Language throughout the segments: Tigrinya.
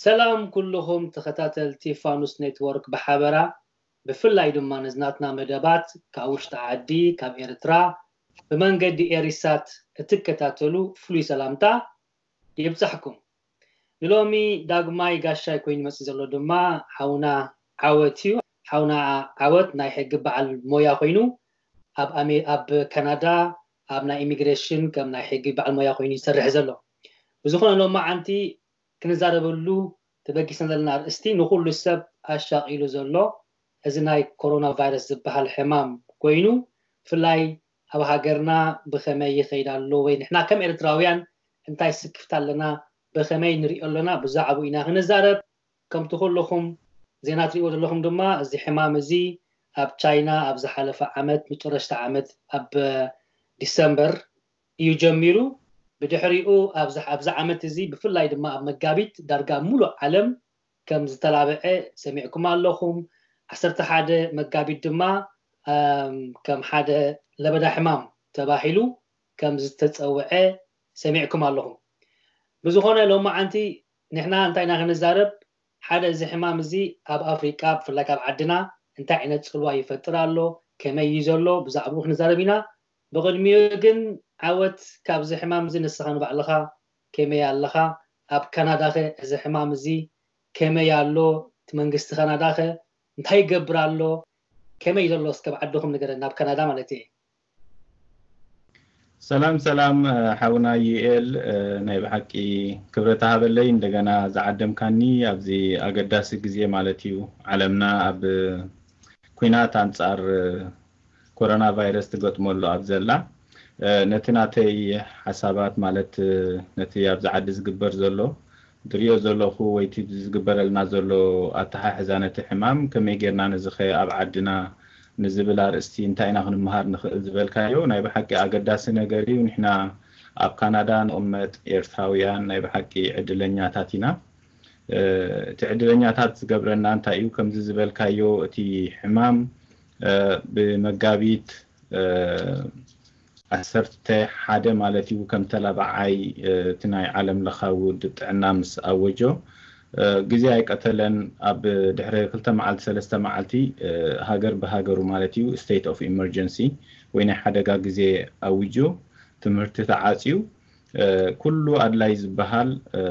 ሰላም ኩልኹም ተኸታተልቲ ፋኑስ ኔትወርክ ብሓበራ፣ ብፍላይ ድማ ነዝናትና መደባት ካብ ውሽጢ ዓዲ፣ ካብ ኤርትራ፣ ብመንገዲ ኤሪሳት እትከታተሉ ፍሉይ ሰላምታ ይብጻሕኩም። ንሎሚ ዳግማይ ጋሻይ ኮይኑ መጽእ ዘሎ ድማ ሓውና ዓወት እዩ። ሓውና ዓወት ናይ ሕጊ በዓል ሞያ ኮይኑ ኣብ ኣሜ-፣ ኣብ ካናዳ ኣብ ናይ ኢሚግሬሽን ከም ናይ ሕጊ በዓል ሞያ ኮይኑ ይሰርሕ ዘሎ። ብዝኾነ ሎማዓንቲ ክንዛረበሉ ተበጊስና ዘለና ኣርእስቲ ንኹሉ ሰብ ኣሻቒሉ ዘሎ እዚ ናይ ኮሮና ቫይረስ ዝበሃል ሕማም ኮይኑ፣ ብፍላይ ኣብ ሃገርና ብኸመይ ይኸይድ ኣሎ ወይ ንሕና ከም ኤርትራውያን እንታይ ስክፍታ ኣለና፣ ብኸመይ ንሪኦ ኣለና፣ ብዛዕባኡ ኢና ክንዛረብ። ከምቲ ኩልኹም ዜና ትሪእዎ ዘለኹም ድማ እዚ ሕማም እዚ ኣብ ቻይና ኣብ ዝሓለፈ ዓመት መጨረሽታ ዓመት ኣብ ዲሰምበር እዩ ጀሚሩ። ብድሕሪኡ ኣብዚ ኣብዚ ዓመት እዚ ብፍላይ ድማ ኣብ መጋቢት ዳርጋ ሙሉእ ዓለም ከም ዝተላበዐ ሰሚዕኩም ኣለኹም። ዓሰርተ ሓደ መጋቢት ድማ ኣም፣ ከም ሓደ ለበዳ ሕማም ተባሂሉ ከም ዝተጸውዐ ሰሚዕኩም ኣለኹም። ብዝኾነ ሎማዓንቲ ንሕና እንታይ ኢና ክንዛረብ? ሓደ እዚ ሕማም እዚ ኣብ ኣፍሪቃ ብፍላይ ካብ ዓድና እንታይ ዓይነት ጽልዋ ይፈጥር ኣሎ፣ ከመይ እዩ ዘሎ፣ ብዛዕባኡ ክንዛረብ ኢና። ብቕድሚኡ ግን ዓወት ካብዚ ሕማም እዚ ንስኻ ንባዕልኻ ከመይ ኣለኻ? ኣብ ካናዳኸ እዚ ሕማም እዚ ከመይ ኣሎ? እቲ መንግስቲ ካናዳኸ እንታይ ይገብር ኣሎ? ከመይ ዘሎ እስከ ኣብ ዓድኹም ንገረና፣ ኣብ ካናዳ ማለት እየ። ሰላም ሰላም፣ እ፣ ሓውና ዩኤል፣ እ፣ ናይ ብሓቂ ክብረት ሃበለይ እንደገና ዝዓደምካኒ ኣብዚ ኣገዳሲ ግዜ ማለት እዩ። ዓለምና ኣብ ኲናት ኣንጻር፣ እ፣ ኮሮና ቫይረስ ትገጥመሉ ኣብ ዘላ፣ እ፣ ነቲ ናተይ ሓሳባት ማለት፣ እ፣ ነቲ ኣብዚ ዓዲ ዝግበር ዘሎ ትሪኦ ዘለኹ ወይ እቲ ዝግበረልና ዘሎ ኣተሓሕዛ ነቲ ሕማም ከመይ ጌርና ነዚ ኸ ኣብ ዓድና ንዝብል ኣርእስቲ እንታይ ኢና ክንመሃር ንኽእል ዝበልካዮ ናይ ብሓቂ ኣገዳሲ ነገር እዩ። ንሕና ኣብ ካናዳ ንቕመጥ ኤርትራውያን ናይ ብሓቂ ዕድለኛታት ኢና። እ፣ እቲ ዕድለኛታት ዝገብረና እንታይ እዩ? ከምዚ ዝበልካዮ እቲ ሕማም፣ እ፣ ብመጋቢት፣ እ፣ ዓሰርተ ሓደ ማለት እዩ ከም ተላባዓይ፣ እ፣ እቲ ናይ ዓለም ለኻዊ ውድብ ጥዕና ምስ ኣወጆ፣ እ፣ ግዜ ኣይቀተለን። ኣብ ድሕሪ ክልተ መዓልቲ ሰለስተ መዓልቲ፣ እ፣ ሃገር ብሃገሩ ማለት እዩ state of emergency ወይ ናይ ሓደጋ ግዜ ኣዊጁ፣ ትምህርቲ ተዓጽዩ፣ እ፣ ኩሉ ኣድላይ ዝበሃል፣ እ፣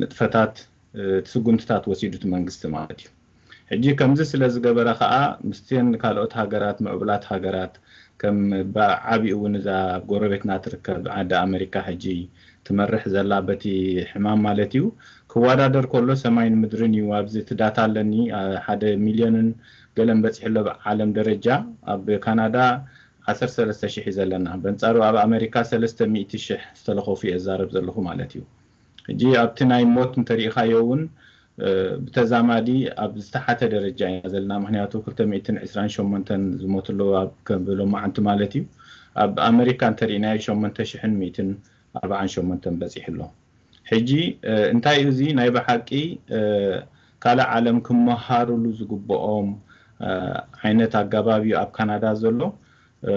ንጥፈታት፣ እ፣ ስጉምትታት ወሲዱ እቲ መንግስቲ ማለት እዩ። ሕጂ ከምዚ ስለ ዝገበረ ኸኣ ምስትን ካልኦት ሃገራት፣ ምዕቡላት ሃገራት፣ ከም ብዓቢኡ እውን እዛ ኣብ ጎረቤትና ትርከብ ዓዲ ኣመሪካ ሕጂ ትመርሕ ዘላ በቲ ሕማም ማለት እዩ፣ ክወዳደር ከሎ ሰማይን ምድርን እዩ። ኣብዚ እቲ ዳታ ኣለኒ፣ አ፣ ሓደ ሚልዮንን ገለን በጺሑ ኣሎ ብዓለም ደረጃ። ኣብ ካናዳ ዓሰርተ ሰለስተ ሽሕ እዩ ዘለና። በንጻሩ ኣብ ኣመሪካ ሰለስተ ሚእቲ ሽሕ ዝተለኸፉ እየ ዝዛረብ ዘለኹ ማለት እዩ። ሕጂ ኣብቲ ናይ ሞት እንተሪኢኻዮ እውን፣ እ፣ ብተዛማዲ ኣብ ዝተሓተ ደረጃ ኢና ዘለና። ምኽንያቱ ክልተ ሚእትን ዕስራን ሸሞንተን ዝሞቱ ኣለዉ ኣብ ከም ሎማዓንቲ ማለት እዩ። ኣብ ኣመሪካ እንተሪእናዮ ሸሞንተ ሽሕን ሚእትን ኣርባዓን ሸሞንተን በጺሑ ኣሎ። ሕጂ፣ እ፣ እንታይ እዩ እዚ ናይ ብሓቂ፣ እ፣ ካልእ ዓለም ክመሃሩሉ ዝግብኦም፣ እ፣ ዓይነት ኣገባብ እዩ ኣብ ካናዳ ዘሎ። እ፣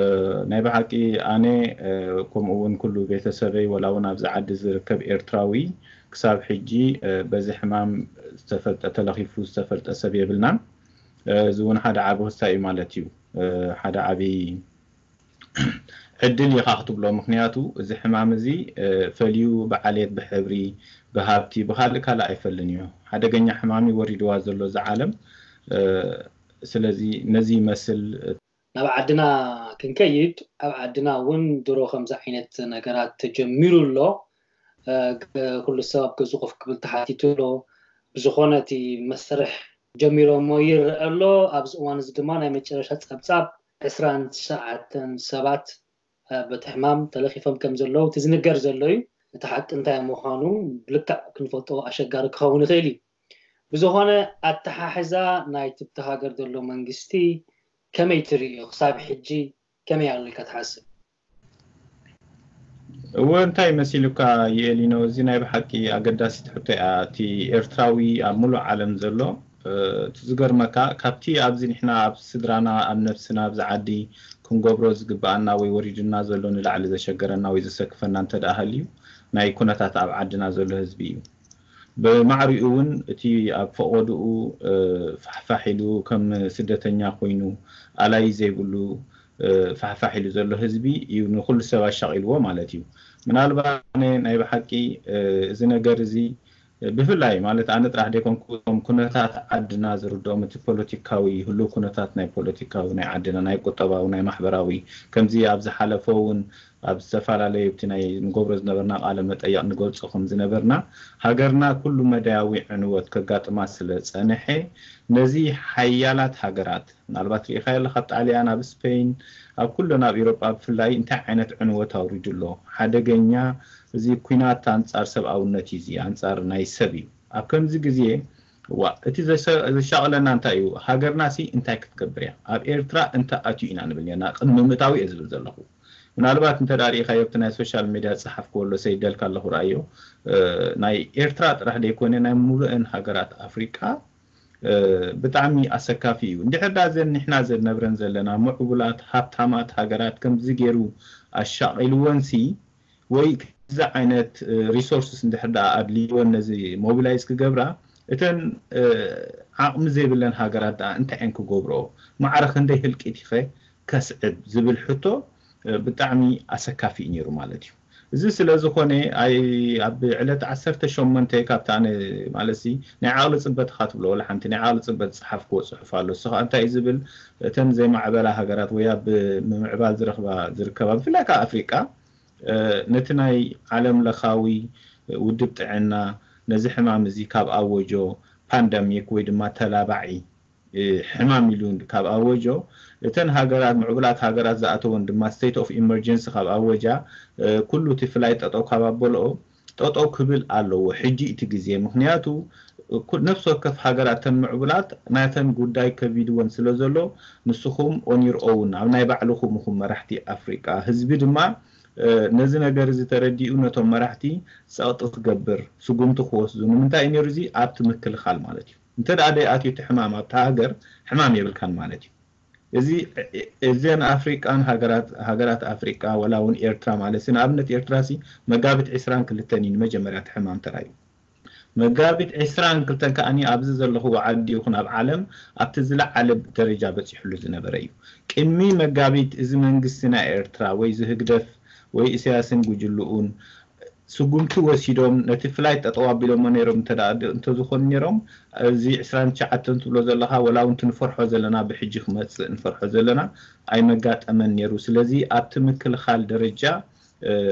ናይ ብሓቂ ኣነ፣ እ፣ ከምኡ እውን ኩሉ ቤተሰበይ ወላ እውን ኣብዚ ዓዲ ዝርከብ ኤርትራዊ ክሳብ ሕጂ፣ እ፣ በዚ ሕማም ዝተፈልጠ ተለኺፉ ዝተፈልጠ ሰብ የብልናን። እ፣ እዚ እውን ሓደ ዓቢ ክስታይ እዩ ማለት እዩ። እ፣ ሓደ ዓቢ ዕድል ኢኻ ክትብሎ። ምኽንያቱ እዚ ሕማም እዚ፣ እ፣ ፈልዩ ብዓሌት፣ ብሕብሪ፣ ብሃብቲ፣ ብኻልእ ካልእ ኣይፈልን እዩ። ሓደገኛ ሕማም እዩ ወሪድዋ ዘሎ እዛ ዓለም። እ፣ ስለዚ ነዚ ይመስል። ናብ ዓድና ክንከይድ፣ ኣብ ዓድና እውን ድሮ ከምዚ ዓይነት ነገራት ተጀሚሩ ኣሎ። እ፣ ገ-፣ ኩሉ ሰብ ኣብ ገዝኡ ኮፍ ክብል ተሓቲቱ ኣሎ። ብዝኾነ እቲ መስርሕ ጀሚሮሞ ይረአ ኣሎ። ኣብዚ እዋን እዚ ድማ ናይ መጨረሻ ጸብጻብ ዕስራን ትሽዓተን ሰባት፣ እ፣ በቲ ሕማም ተለኺፎም ከም ዘለዉ እቲ ዝንገር ዘሎ እዩ። እቲ ሓቂ እንታይ ምዃኑ ብልክዕ ክንፈልጦ ኣሸጋሪ ክኸውን ይኽእል እዩ። ብዝኾነ ኣተሓሕዛ ናይቲ ብቲ ሃገር ዘሎ መንግስቲ ከመይ ትርእዮ? ክሳብ ሕጂ ከመይ ኣሎ ኢልካ ትሓስብ? እወ፣ እንታይ መሲሉካ ይኤሊኖ? እዚ ናይ ብሓቂ ኣገዳሲት ሕቶ እያ። እቲ ኤርትራዊ ኣብ ሙሉእ ዓለም ዘሎ፣ እ፣ እቲ ዝገርመካ ካብቲ ኣብዚ ንሕና ኣብ ስድራና ኣብ ነብስና ኣብዚ ዓዲ ክንገብሮ ዝግብኣና ወይ ወሪዱና ዘሎ ንላዕሊ ዘሸገረና ወይ ዘሰክፈና እንተ ደኣ ሃልዩ ናይ ኩነታት ኣብ ዓድና ዘሎ ህዝቢ እዩ። ብማዕሪኡ እውን እቲ ኣብ ፈቐድኡ ፋሕፋሕ ኢሉ ከም ስደተኛ ኮይኑ ኣላይ ዘይብሉ ፋሕፋሕ ኢሉ ዘሎ ህዝቢ እዩ ንኩሉ ሰብ ኣሻቒልዎ ማለት እዩ። ምናልባት ናይ ብሓቂ እዚ ነገር እዚ ብፍላይ ማለት ኣነ ጥራሕ ደይኮንኩ እቶም ኩነታት ዓድና ዝርድኦም እቲ ፖለቲካዊ ህሉ ኩነታት ናይ ፖለቲካዊ ናይ ዓድና ናይ ቁጠባዊ ናይ ማሕበራዊ ከምዚ ኣብ ዝሓለፈ እውን ኣብ ዝተፈላለዩ ኣብቲ ናይ ንገብሮ ዝነበርና ቃለ መጠየቕ ንገልጾ ከም ዝነበርና ሃገርና ኩሉ መዳያዊ ዕንወት ከጋጥማ ስለ ጸንሐ ነዚ ሓያላት ሃገራት ምናልባት ርኢኻዮ ኣለኻ ኣብ ጣልያን ኣብ ስፔን ኣብ ኩለን ኣብ ኤሮጳ ብፍላይ እንታይ ዓይነት ዕንወት ኣውሪዱ ኣሎ ሓደገኛ እዚ ኩናት ኣንጻር ሰብኣውነት እዩ እዚ ኣንጻር ናይ ሰብ እዩ ኣብ ከምዚ ግዜ ዋ እቲ ዘሻቕለና እንታይ እዩ ሃገርና ሲ እንታይ ክትገብር እያ ኣብ ኤርትራ እንተ ኣትዩ ኢና ንብል ኔርና ቅድሚ ምእታዊ እየ ዝብል ዘለኹ ምናልባት እንተ ርኢኻዮ ኣብቲ ናይ ሶሻል ሚድያ ዝፀሓፍክዎ ኣሎ ሰይደልካ ኣለኹ ረኣዮ ናይ ኤርትራ ጥራሕ ደይኮነ ናይ ሙሉእን ሃገራት ኣፍሪቃ ብጣዕሚ ኣሰካፊ እዩ እንድሕር ዳ ዘን ንሕና ዘነብረን ዘለና ምዕቡላት ሃብታማት ሃገራት ከምዚ ገይሩ ኣሻቒልወን ሲ ወይ ከምዚ ዓይነት resources እንድሕር ደኣ ኣድልይወን ነዚ mobilize ክገብራ እተን ዓቕሚ ዘይብለን ሃገራት ደኣ እንታይ እየን ክገብርኦ ማዕረ ክንደይ ህልቂት ኢኸ ከስዕብ ዝብል ሕቶ ብጣዕሚ ኣሰካፊ እዩ ነይሩ ማለት እዩ እዚ ስለ ዝኾነ ኣብ ዕለት ዓሰርተ ሸሞንተ ካብታ ኣነ ማለት ሲ ናይ ዓቕሊ ፅበት ኢኻ ትብሎ ወላ ሓንቲ ናይ ዓቕሊ ፅበት ዝፀሓፍክዎ ፅሑፍ ኣሎ እሱ ከዓ እንታይ እዩ ዝብል እተን ዘይማዕበላ ሃገራት ወይ ኣብ ምምዕባል ዝረኽባ ዝርከባ ብፍላይ ከዓ ኣፍሪቃ ነቲ ናይ ዓለም ለኻዊ ውድብ ጥዕና ነዚ ሕማም እዚ ካብ ኣወጆ ፓንደሚክ ወይ ድማ ተላባዒ ሕማም ኢሉ ካብ ኣወጆ እተን ሃገራት ምዕቡላት ሃገራት ዝኣተወን ድማ state of emergency ካብ ኣወጃ ኩሉ እቲ ፍላይ ጠጠው ካብ ኣበልኦ ጠጠው ክብል ኣለዎ ሕጂ እቲ ግዜ ምክንያቱ ነፍሲ ወከፍ ሃገራት ተን ምዕቡላት ናተን ጉዳይ ከቢድወን ስለ ዘሎ ንስኹም on your own ኣብ ናይ ባዕልኹም ኢኹም መራሕቲ ኣፍሪቃ ህዝቢ ድማ ነዚ ነገር እዚ ተረዲኡ ነቶም መራሕቲ ጸቕጢ ክገብር ስጉምቲ ክወስዱ ንምንታይ እዩ ነይሩ እዚ ኣብቲ ምክልኻል ማለት እዩ እንተ ደኣ ደይኣትዩ እቲ ሕማም ኣብታ ሃገር ሕማም የብልካን ማለት እዩ እዚ እዘን ኣፍሪቃን ሃገራት ኣፍሪቃ ወላ እውን ኤርትራ ማለት ንኣብነት ኤርትራ ሲ መጋቢት ዕስራን ክልተን እዩ ንመጀመርያ እቲ ሕማም ተራዩ መጋቢት ዕስራን ክልተን ከኣ ኣብዚ ዘለኹዎ ዓዲ ይኹን ኣብ ዓለም ኣብቲ ዝለዓለ ደረጃ በፂሕሉ ዝነበረ እዩ ቅድሚ መጋቢት እዚ መንግስቲ ናይ ኤርትራ ወይ እዚ ህግደፍ ወይ ኢሳያስን ጉጅልኡን ስጉምቲ ወሲዶም ነቲ ፍላይት ጠጠው ኣቢሎሞ ነይሮም እንተዝኾኑ ነይሮም እዚ ዕስራን ትሽዓተን ትብሎ ዘለኻ ወላ እውን ትንፈርሖ ዘለና ብሕጂ ክመፅእ ንፈርሖ ዘለና ኣይመጋጠመን ነይሩ ስለዚ ኣብቲ ምክልኻል ደረጃ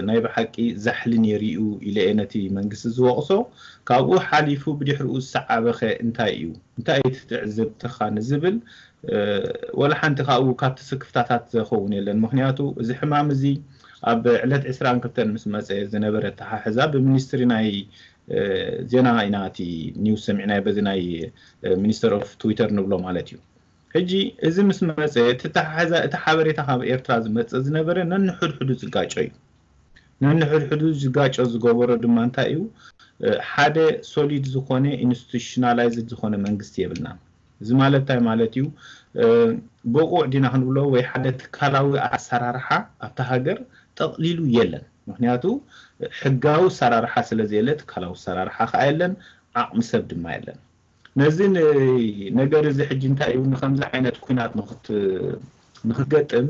ናይ ብሓቂ ዛሕሊ ነይሩ እዩ ኢለ እየ ነቲ መንግስቲ ዝወቕሶ ካብኡ ሓሊፉ ብድሕሪኡ ዝሰዓበኸ እንታይ እዩ እንታይ እዩ ትዕዝብትኻ ንዝብል ወላ ሓንቲ ካብኡ ካብቲ ስክፍታታት ዘኸውን የለን ምክንያቱ እዚ ሕማም እዚ ኣብ ዕለት ዕስራን ክልተን ምስ መፀ ዝነበረ ተሓሕዛ ብሚኒስትሪ ናይ ዜና ኢና እቲ ኒውስ ሰሚዕናዮ በዚ ናይ ሚኒስተር ኦፍ ትዊተር ንብሎ ማለት እዩ ሕጂ እዚ ምስ መፀ እቲ ተሓሕዛ እቲ ሓበሬታ ካብ ኤርትራ ዝመፀ ዝነበረ ነንሕድሕዱ ዝጋጮ እዩ ነንሕድሕዱ ዝጋጮ ዝገበሮ ድማ እንታይ እዩ ሓደ solid ዝኾነ institutionalized ዝኾነ መንግስቲ የብልና እዚ ማለት እንታይ ማለት እዩ ብቑዕ ዲና ክንብሎ ወይ ሓደ ትካላዊ ኣሰራርሓ ኣብታ ሃገር ጠቕሊሉ የለን ምክንያቱ ሕጋዊ ኣሰራርሓ ስለ ዘየለ ትካላዊ ኣሰራርሓ ከዓ የለን ዓቕሚ ሰብ ድማ የለን ነዚ ነገር እዚ ሕጂ እንታይ እዩ ንከምዚ ዓይነት ኩናት ንክትገጥም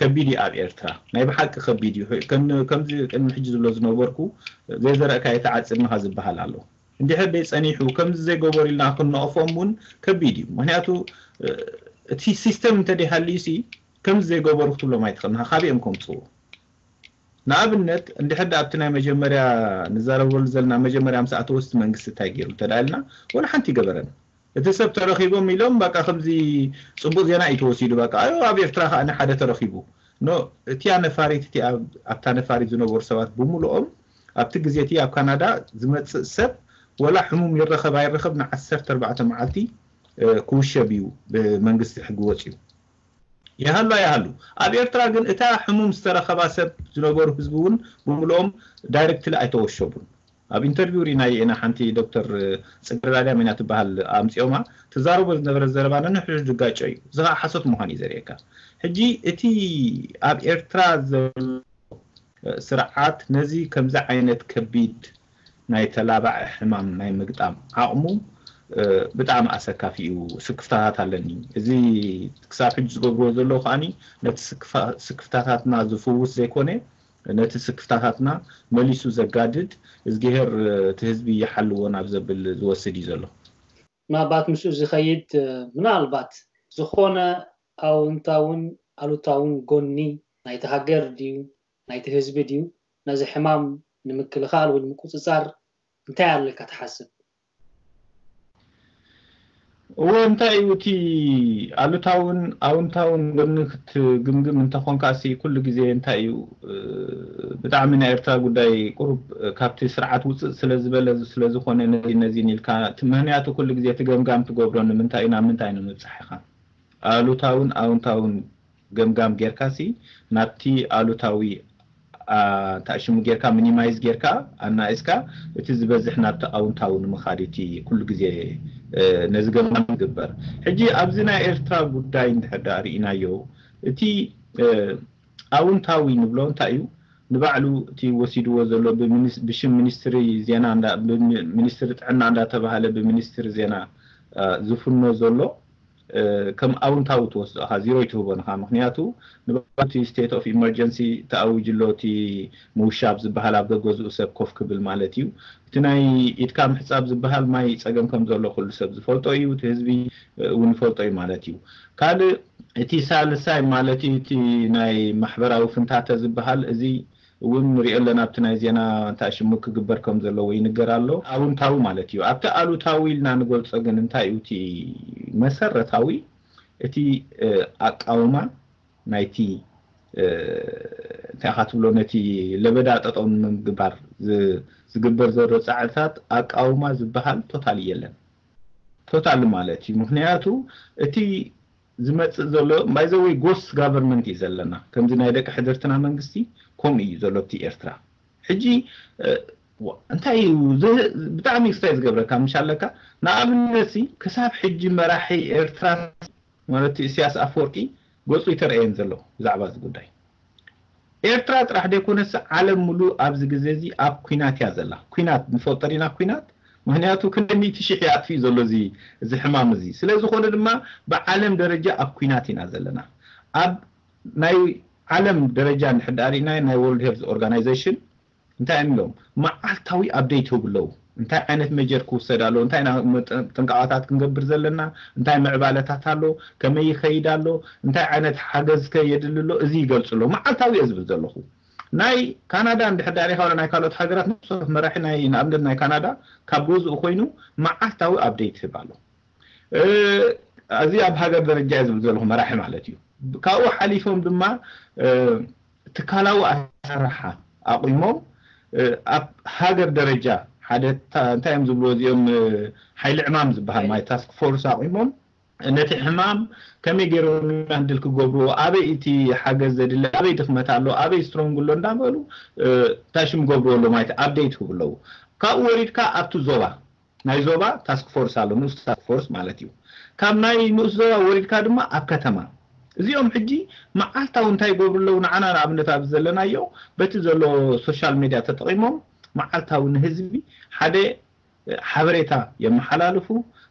ከቢድ እዩ ኣብ ኤርትራ ናይ ብሓቂ ከቢድ እዩ ከምዚ ቅድሚ ሕጂ ዝብሎ ዝነበርኩ ዘይዘረእካ የተዓፅድንኻ ዝበሃል ኣሎ እንድሕር ደይ ፀኒሑ ከምዚ ዘይገበሩ ኢልና ክንነቕፎም እውን ከቢድ እዩ ምክንያቱ እቲ ሲስተም እንተደይሃልዩ ሲ ከምዚ ዘይገበሩ ክትብሎም ኣይትኽእል ንኻ ካበኦም ከምፅዎ ንኣብነት እንድሕር ኣብቲ ናይ መጀመርያ ንዛረበሉ ዘለና መጀመርያ ምስ ኣተወስቲ መንግስቲ እንታይ ገይሩ እንተዳልና ወላ ሓንቲ ይገበረን እቲ ሰብ ተረኺቦም ኢሎም በቃ ከምዚ ፅቡቅ ዜና እዩ ተወሲዱ በቃ ኣዮ ኣብ ኤርትራ ከዓ ሓደ ተረኺቡ ኖ እቲያ ነፋሪት እቲ ኣብታ ነፋሪት ዝነበሩ ሰባት ብምልኦም ኣብቲ ግዜ እቲ ኣብ ካናዳ ዝመፅእ ሰብ ወላ ሕሙም ይረኸብ ኣይረኸብ ንዓሰርተ ኣርባዕተ መዓልቲ ክውሸብ እዩ ብመንግስቲ ሕጊ ወፅዩ ይሃሉ ኣይሃሉ ኣብ ኤርትራ ግን እታ ሕሙም ዝተረኸባ ሰብ ዝነበሩ ህዝቢ እውን ብምልኦም directly ኣይተወሸቡን ኣብ interview ሪናዮ ኢና ሓንቲ ዶክተር ፅገረዳ ድያም ኢና ትበሃል ኣምፂኦማ ትዛረቦ ዝነበረ ዘረባ ነንሕድሕዱ ዝጋጮ እዩ እዚ ከዓ ሓሶት ምዃን እዩ ዘርእየካ ሕጂ እቲ ኣብ ኤርትራ ዘሎ ስርዓት ነዚ ከምዚ ዓይነት ከቢድ ናይ ተላባዒ ሕማም ናይ ምግጣም ዓቕሙ ብጣዕሚ ኣሰካፊ እዩ። ስክፍታታት ኣለኒ። እዚ ክሳብ ሕጂ ዝገብርዎ ዘለዉ ከዓኒ ነቲ ስክፍታታትና ዝፍውስ ዘይኮነ፣ ነቲ ስክፍታታትና መሊሱ ዘጋድድ፣ እዝግሄር እቲ ህዝቢ ይሓልዎ ናብ ዘብል ዝወስድ እዩ ዘሎ። ምናልባት ምስኡ ዝኸይድ ምናልባት ዝኾነ ኣውንታውን ኣሉታውን ጎኒ ናይቲ ሃገር ድዩ ናይቲ ህዝቢ ድዩ ነዚ ሕማም ንምክልኻል ወይ ንምቁፅፃር እንታይ ኣለካ ትሓስብ? እወ እንታይ እዩ እቲ ኣሉታውን ኣውንታውን ጎኒ ክትግምግም እንተኾንካ ሲ ኩሉ ግዜ እንታይ እዩ ብጣዕሚ ናይ ኤርትራ ጉዳይ ቁሩብ ካብቲ ስርዓት ውፅእ ስለ ዝበለ ስለ ዝኾነ ነዚ ነዚን ኢልካ ምክንያቱ ኩሉ ግዜ እቲ ገምጋም ትገብሮ ንምንታይ ናብ ምንታይ ንምብፃሕ ኢኻ ኣሉታውን ኣውንታውን ገምጋም ጌርካ ሲ ናብቲ ኣሉታዊ እንታይ ሽሙ ጌርካ ሚኒማይዝ ጌርካ ኣናኢስካ እቲ ዝበዝሕ ናብቲ ኣውንታዊ ንምኻድ እቲ ኩሉ ግዜ ነዚ ገምጋም ዝግበር ሕጂ ኣብዚ ናይ ኤርትራ ጉዳይ እንድሕር ዳ ርኢናዮ እቲ ኣውንታዊ ንብሎ እንታይ እዩ ንባዕሉ እቲ ወሲድዎ ዘሎ ብሽም ሚኒስትሪ ዜና ሚኒስትሪ ጥዕና እንዳተባሃለ ብሚኒስትሪ ዜና ዝፍኖ ዘሎ ከም ኣውንታዊ ትወስዶ ኢኻ ዚሮ ይትህቦ ንኻ ምክንያቱ ንባቲ state of emergency ተኣዊጅ ኣሎ እቲ ምውሻብ ዝበሃል ኣብ ገገዝኡ ሰብ ኮፍ ክብል ማለት እዩ እቲ ናይ ኢድካ ምሕፃብ ዝበሃል ማይ ፀገም ከም ዘሎ ኩሉ ሰብ ዝፈልጦ እዩ እቲ ህዝቢ እውን ይፈልጦ እዩ ማለት እዩ ካልእ እቲ ሳልሳይ ማለት እዩ እቲ ናይ ማሕበራዊ ፍንታተ ዝበሃል እዚ እውን ንሪኦ ኣለና ኣብቲ ናይ ዜና እንታይ ሽሙ ክግበር ከም ዘለዎ ይንገር ኣሎ ኣውንታዊ ማለት እዩ ኣብቲ ኣሉታዊ ኢልና ንገልፆ ግን እንታይ እዩ እቲ መሰረታዊ እቲ ኣቃውማ ናይቲ እንታይ ኢኻ ትብሎ ነቲ ለበዳ ጠጠው ንምግባር ዝግበር ዘሎ ፃዕርታት ኣቃውማ ዝበሃል ቶታሊ የለን ቶታሊ ማለት እዩ ምክንያቱ እቲ ዝመፅእ ዘሎ ባይዘወይ ጎስ ጋቨርንመንት እዩ ዘለና ከምዚ ናይ ደቂ ሕድርትና መንግስቲ ከምኡ እዩ ዘሎ እቲ ኤርትራ ሕጂ እንታይ እዩ ብጣዕሚ ክስታይ ዝገብረካ ምሽ ኣለካ ንኣብነት ክሳብ ሕጂ መራሒ ኤርትራ ማለት ኢሳያስ ኣፈወርቂ ገፁ ይተረእየን ዘሎ ብዛዕባ እዚ ጉዳይ ኤርትራ ጥራሕ ዘይኮነስ ዓለም ሙሉእ ኣብዚ ግዜ እዚ ኣብ ኩናት እያ ዘላ ኩናት ንፈልጦ ዲና ኩናት ምክንያቱ ክንደ ሚእቲ ሽሕ ይኣጥፊ ዘሎ እዚ እዚ ሕማም እዚ ስለ ዝኾነ ድማ ብዓለም ደረጃ ኣብ ኩናት ኢና ዘለና ኣብ ናይ ዓለም ደረጃ እንድሕር ዳ ርኢና ናይ World Health Organization እንታይ እዮም ኢሎም መዓልታዊ update ይህቡ ኣለዉ እንታይ ዓይነት መጀር ክውሰድ ኣለዎ እንታይ ጥንቃቐታት ክንገብር ዘለና እንታይ ምዕባለታት ኣሎ ከመይ ይኸይድ ኣሎ እንታይ ዓይነት ሓገዝ ከ የድሊ ኣሎ እዚ ይገልፁ ኣለዉ መዓልታዊ እየ ዝብል ዘለኹ ናይ ካናዳ እንድሕር ዳ ርኢኻ ናይ ካልኦት ሃገራት ነብሶም መራሒ ናይ ንኣብነት ናይ ካናዳ ካብ ገዝኡ ኮይኑ መዓልታዊ update ይህብ ኣሎ እዚ ኣብ ሃገር ደረጃ እየ ዝብል ዘለኹ መራሒ ማለት እዩ ካብኡ ሓሊፎም ድማ ትካላዊ ኣሰራርሓ ኣቑሞም ኣብ ሃገር ደረጃ ሓደ እንታይ እዮም ዝብልዎ እዚኦም ሓይሊ ዕማም ዝበሃል ማለት task force ኣቑሞም ነቲ ሕማም ከመይ ገይሮም ሃንድል ክገብርዎ ኣበይ እቲ ሓገዝ ዘድሊ ኣበይ ድኽመት ኣሎ ኣበይ ስትሮንግ ኣሎ እንዳበሉ እንታይ ሽም ገብርዎ ኣሎ ማለት update ክብለዉ ካብኡ ወሪድካ ኣብቲ ዞባ ናይ ዞባ task force ኣሎ ንኡስ task force ማለት እዩ ካብ ናይ ንኡስ ዞባ ወሪድካ ድማ ኣብ ከተማ እዚኦም ሕጂ መዓልታዊ እንታይ ይገብሩ ኣለዉ ንዓና ንኣብነት ኣብዚ ዘለናዮ በቲ ዘሎ social media ተጠቒሞም መዓልታዊ ንህዝቢ ሓደ ሓበሬታ የመሓላልፉ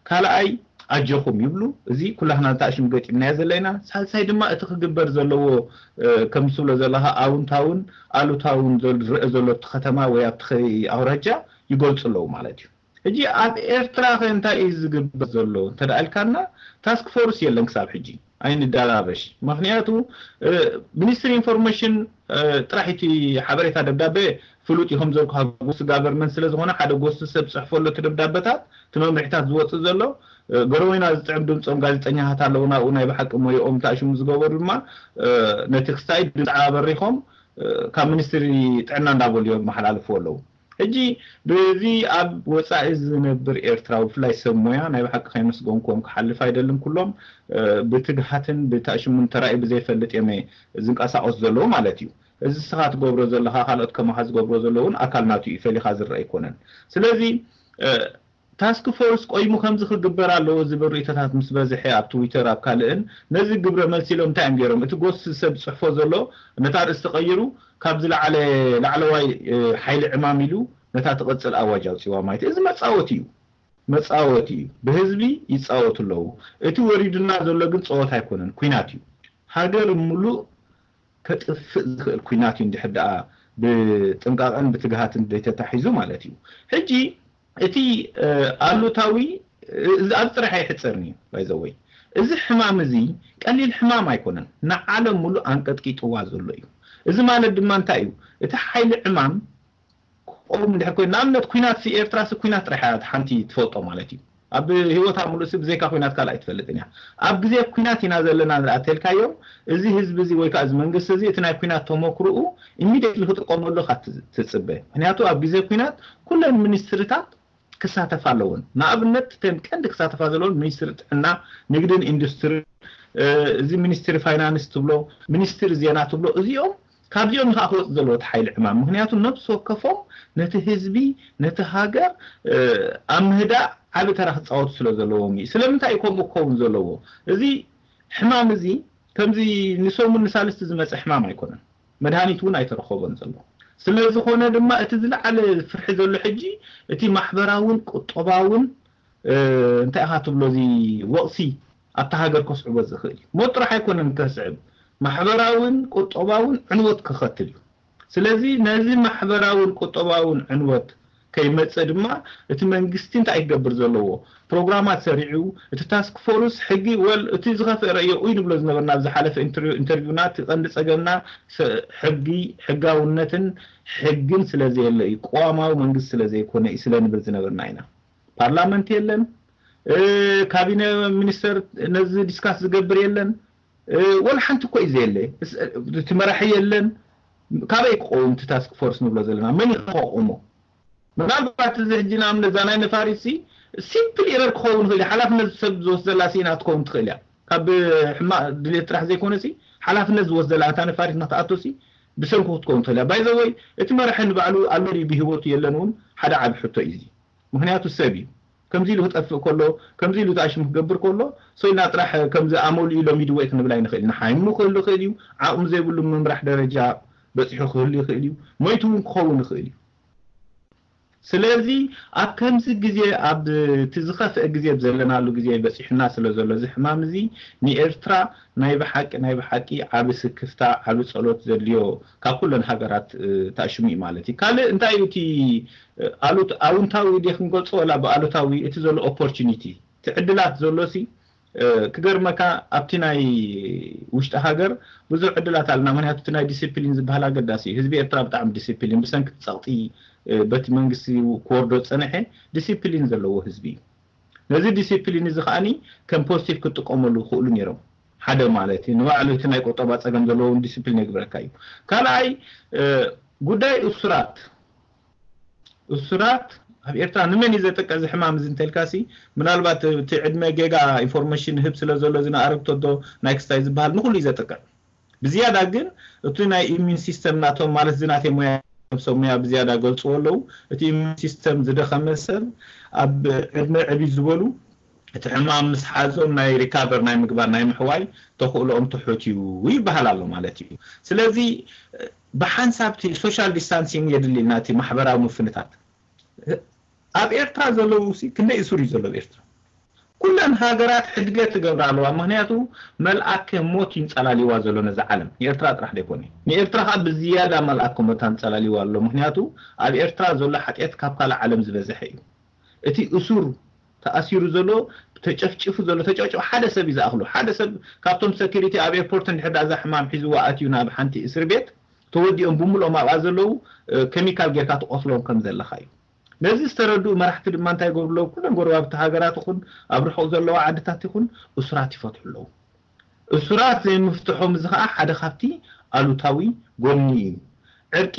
ካልኣይ ኣጆኹም ይብሉ እዚ ኩላህና እንታይ ሽም ገጢምናዮ ዘለና ሳልሳይ ድማ እቲ ክግበር ዘለዎ ከም ትብሎ ዘለኻ ኣውንታውን ኣሉታውን ዝረአ ዘሎ እቲ ከተማ ወይ ኣብቲ ኣውራጃ ይገልፁ ኣለዉ ማለት እዩ ሕጂ ኣብ ኤርትራ ከ እንታይ እዩ ዝግበር ዘሎ እንተደኣ ኢልካና task force የለን ክሳብ ሕጂ ኣይንደራበሽ ምክንያቱ ministry information ጥራሕ እቲ ሓበሬታ ደብዳቤ ፍሉጥ እዩ ከም ዘልኩ ጎስቲ government ስለ ዝኾነ ሓደ ጎስቲ ሰብ ፅሕፎ ኣሎ እቲ ደብዳቤታት እቲ መምርሒታት ዝወፅእ ዘሎ ገረወይና ዝጥዕም ድምፆም ጋዜጠኛታት ኣለዉ ናብኡ ናይ ብሓቂ ሞይኦም እንታይ ሽሙ ዝገበሩ ድማ ነቲ ክስታይ ድምፂ ኣበሪኾም ካብ ሚኒስትሪ ጥዕና እንዳበሉ እዮም መሓላልፍዎ ኣለዉ ሕጂ በዚ ኣብ ወፃኢ ዝነብር ኤርትራዊ ብፍላይ ሰብ ሞያ ናይ ብሓቂ ከይመስገንኩዎም ክሓልፍ ኣይደልን ኩሎም ብትግሃትን ብታሽሙን ተራእዩ ብዘይፈልጥ እዮም ዝንቀሳቀሱ ዘለዉ ማለት እዩ እዚ ስኻ ትገብሮ ዘለኻ ካልኦት ከማኻ ዝገብሮ ዘለውን ኣካል ናቱ እዩ ፈሊኻ ዝረአ ኣይኮነን ስለዚ task force ቆይሙ ከምዚ ክግበር ኣለዎ ዝብል ርእይቶታት ምስ በዝሐ ኣብ ትዊተር ኣብ ካልእን ነዚ ግብረ መልሲ ኢሎም እንታይ እዮም ገይሮም እቲ ጎስ ሰብ ዝፅሕፎ ዘሎ ነታ ርእሲ ተቐይሩ ካብ ዝለዓለ ላዕለዋይ ሓይሊ ዕማም ኢሉ ነታ ትቕጽል ኣዋጅ ኣውጺዋ ማለት እዩ። እዚ መጻወቲ እዩ፣ መጻወቲ እዩ። ብህዝቢ ይጻወቱ ኣለዉ። እቲ ወሪዱና ዘሎ ግን ጸወታ ኣይኮነን፣ ኲናት እዩ። ሃገር ምሉእ ከጥፍእ ዝኽእል ኲናት እዩ፣ እንድሕር ደኣ ብጥንቃቐን ብትግሃትን ዘይተታሒዙ ማለት እዩ። ሕጂ እቲ ኣሉታዊ፣ እዚ ኣብ ጥራሕ ኣይሕጸርን እዩ ባይዘወይ። እዚ ሕማም እዚ ቀሊል ሕማም ኣይኮነን፣ ንዓለም ሙሉእ ኣንቀጥቂጥዋ ዘሎ እዩ። እዚ ማለት ድማ እንታይ እዩ? እቲ ሓይሊ ዕማም ክቆም እንድሕር ኮይኑ፣ ንኣብነት ኲናት ሲ ኤርትራ ሲ ኲናት ጥራሕ እያ ሓንቲ ትፈልጦ ማለት እዩ። ኣብ ህይወታ ሙሉእ ሲ ብዘይካ ኲናት ካልእ ኣይትፈልጥን እያ። ኣብ ግዜ ኲናት ኢና ዘለና እንድኣ ተልካዮም፣ እዚ ህዝቢ እዚ ወይ ከዓ እዚ መንግስቲ እዚ እቲ ናይ ኲናት ተመክሮኡ ኢሚዲየትሊ ክጥቀመሉ ኢኻ ትጽበ። ምክንያቱ ኣብ ግዜ ኲናት ኩለን ሚኒስትሪታት ክሳተፋ ኣለወን። ንኣብነት እተን ቀንዲ ክሳተፋ ዘለወን ሚኒስትሪ ጥዕና፣ ንግድን ኢንዱስትሪ፣ እዚ ሚኒስትሪ ፋይናንስ ትብሎ፣ ሚኒስትሪ ዜና ትብሎ፣ እዚኦም ካብዚኦም ንኻ ክወፅ ዘለዎ እቲ ሓይሊ ዕማም። ምክንያቱ ነብሲ ወከፎም ነቲ ህዝቢ፣ ነቲ ሃገር ኣብ ምህዳእ ዓቢ ተራ ክፃወቱ ስለ ዘለዎም እዩ። ስለምንታይ እዩ ከምኡ ክኸውን ዘለዎ? እዚ ሕማም እዚ ከምዚ ንሰሙን ንሳልስቲ ዝመፀ ሕማም ኣይኮነን። መድሃኒት እውን ኣይተረኸቦን ዘሎ። ስለ ዝኾነ ድማ እቲ ዝለዓለ ፍርሒ ዘሎ ሕጂ እቲ ማሕበራውን ቁጠባውን እንታይ ኢኻ ትብሎ እዚ ወቕሲ ኣብታ ሃገር ከስዕቦ ዝኽእል እዩ። ሞት ጥራሕ ኣይኮነን ከስዕብ፣ ማሕበራውን ቁጠባውን ዕንወት ከኸትል እዩ። ስለዚ ነዚ ማሕበራውን ቁጠባውን ዕንወት ከይመጽእ ድማ እቲ መንግስቲ እንታይ ክገብር ዘለዎ ፕሮግራማት ሰሪዑ፣ እቲ ታስክ ፎርስ ሕጊ ወል እቲ ዝኸፍአ ረእዮ እዩ ንብሎ ዝነበርና ኣብ ዝሓለፈ ኢንተርቪውና፣ እቲ ቀንዲ ጸገምና ሕጊ፣ ሕጋውነትን ሕግን ስለ ዘየለ እዩ፣ ቅዋማዊ መንግስቲ ስለ ዘይኮነ እዩ ስለ ንብል ዝነበርና ኢና። ፓርላመንት የለን፣ ካቢነ ሚኒስተር ነዚ ዲስካስ ዝገብር የለን፣ ወላ ሓንቲ እኮ እዩ ዘየለ። እቲ መራሒ የለን። ካበይ ክኸውን እቲ ታስክ ፎርስ ንብሎ ዘለና? መን እዩ ከቆሞ? ምናልባት እዚ ሕጂ ንኣብነት እዛ ናይ ነፋሪት ሲ ሲምፕል ኤረር ክኸውን ይኽእል እዩ። ሓላፍነት ሰብ ዝወስደላ ሲ ኢና ትኸውን ትኽእል እያ። ካብ ሕማቕ ድሌት ጥራሕ ዘይኮነ ሲ ሓላፍነት ዝወስደላ እታ ነፋሪት ንክትኣቶ ሲ ብሰንኩ ክትከውን ትኽእል እያ። ባይዘወይ እቲ መራሒ ንባዕሉ ኣሎ ድዩ ብህይወቱ የለን እውን ሓደ ዓቢ ሕቶ እዩ እዚ። ምክንያቱ ሰብ እዩ። ከምዚ ኢሉ ክጠፍእ ከሎ፣ ከምዚ ኢሉ ተኣሽሙ ክገብር ከሎ፣ ሰው ኢልና ጥራሕ ከምዚ ኣመሉ ኢሎም ይድወይ ክንብል ኣይንኽእል ኢና። ሓይሙ ክህሉ ይኽእል እዩ። ዓቕሚ ዘይብሉ ምምራሕ ደረጃ በፂሑ ክህሉ ይኽእል እዩ። ሞይቱ እውን ክኸውን ይኽእል እዩ። ስለዚ ኣብ ከምዚ ግዜ፣ ኣብ እቲ ዝኸፍአ ግዜ ዘለናሉ ግዜ በፂሑና ስለ ዘሎ እዚ ሕማም እዚ ንኤርትራ ናይ ብሓቂ ናይ ብሓቂ ዓቢ ስክፍታ ዓቢ ጸሎት ዘድልዮ ካብ ኩለን ሃገራት ተኣሽሙ እዩ ማለት እዩ። ካልእ እንታይ እዩ እቲ ኣሉት ኣውንታዊ ድየ ክንገልጾ ወላ ብኣሉታዊ እቲ ዘሎ ኦፖርቹኒቲ እቲ ዕድላት ዘሎ ሲ ክገርመካ ኣብቲ ናይ ውሽጢ ሃገር ብዙሕ ዕድላት ኣለና። ምክንያቱ እቲ ናይ ዲሲፕሊን ዝበሃል ኣገዳሲ እዩ። ህዝቢ ኤርትራ ብጣዕሚ ዲሲፕሊን ብሰንኪ ጸቕጢ በቲ መንግስቲ ክወርዶ ዝጸንሐ ዲሲፕሊን ዘለዎ ህዝቢ እዩ። ነዚ ዲሲፕሊን እዚ ከዓኒ ከም ፖዚቲቭ ክጥቀመሉ ይኽእሉ ነይሮም። ሓደ ማለት እዩ ንባዕሉ እቲ ናይ ቁጠባ ጸገም ዘለዎም ዲሲፕሊን የግብረካ እዩ። ካልኣይ ጉዳይ እሱራት እሱራት ኣብ ኤርትራ ንመን እዩ ዘጥቅዕ እዚ ሕማም እዚ እንተልካሲ ምናልባት እቲ ዕድመ ጌጋ ኢንፎርሜሽን ህብ ስለ ዘሎ እዚ ንኣረግቶዶ ናይ ክስታይ ዝበሃል ንኩሉ እዩ ዘጥቅዕ። ብዝያዳ ግን እቲ ናይ ኢሚን ሲስተም ናቶም ማለት እዚ ናተይ ሙያ ሰብ ሙያ ብዝያዳ ገልፅዎ ኣለዉ። እቲ ኢሚን ሲስተም ዝደኸመ ሰብ ኣብ ዕድመ ዕብይ ዝበሉ እቲ ሕማም ምስ ሓዞም ናይ ሪካቨር ናይ ምግባር ናይ ምሕዋይ ተኽእሎኦም ትሑት እዩ ይበሃል ኣሎ ማለት እዩ። ስለዚ ብሓንሳብ እቲ ሶሻል ዲስታንሲንግ የድሊ ኢልና እቲ ማሕበራዊ ምፍንታት ኣብ ኤርትራ ዘለዉ ሲ ክንደይ እሱር እዩ ዘሎ ኣብ ኤርትራ? ኩለን ሃገራት ሕድገት ትገብራ ኣለዋ። ምክንያቱ መልኣከ ሞት ይንጸላልዋ ዘሎ ነዛ ዓለም። ንኤርትራ ጥራሕ ደይኮነ። ንኤርትራ ከዓ ብዝያዳ መልኣከ ሞት ኣንጸላልዋ ኣሎ። ምክንያቱ ኣብ ኤርትራ ዘሎ ሓጢኣት ካብ ካልእ ዓለም ዝበዝሐ እዩ። እቲ እሱር ተኣሲሩ ዘሎ ተጨፍጭፉ ዘሎ ተጨፍጭፉ ሓደ ሰብ እዩ ዝኣኽሎ። ሓደ ሰብ ካብቶም ሰኪሪቲ ኣብ ኤርፖርት እንድሕር ዳኣ እዛ ሕማም ሒዝዋ ኣትዩ ናብ ሓንቲ እስር ቤት ተወዲኦም ብምልኦም ኣብኣ ዘለዉ ኬሚካል ጌርካ ትቆስሎም ከም ዘለኻ እዩ። ነዚ ዝተረድኡ መራሕቲ ድማ እንታይ ይገብሩ ኣለዉ? ኩለን ጎረባብቲ ሃገራት ይኹን ኣብ ርሑቕ ዘለዋ ዓድታት ይኹን እሱራት ይፈትሑ ኣለዉ። እሱራት ዘይምፍትሖም እዚ ኸዓ ሓደ ካብቲ ኣሉታዊ ጎኒ እዩ። ዕርቂ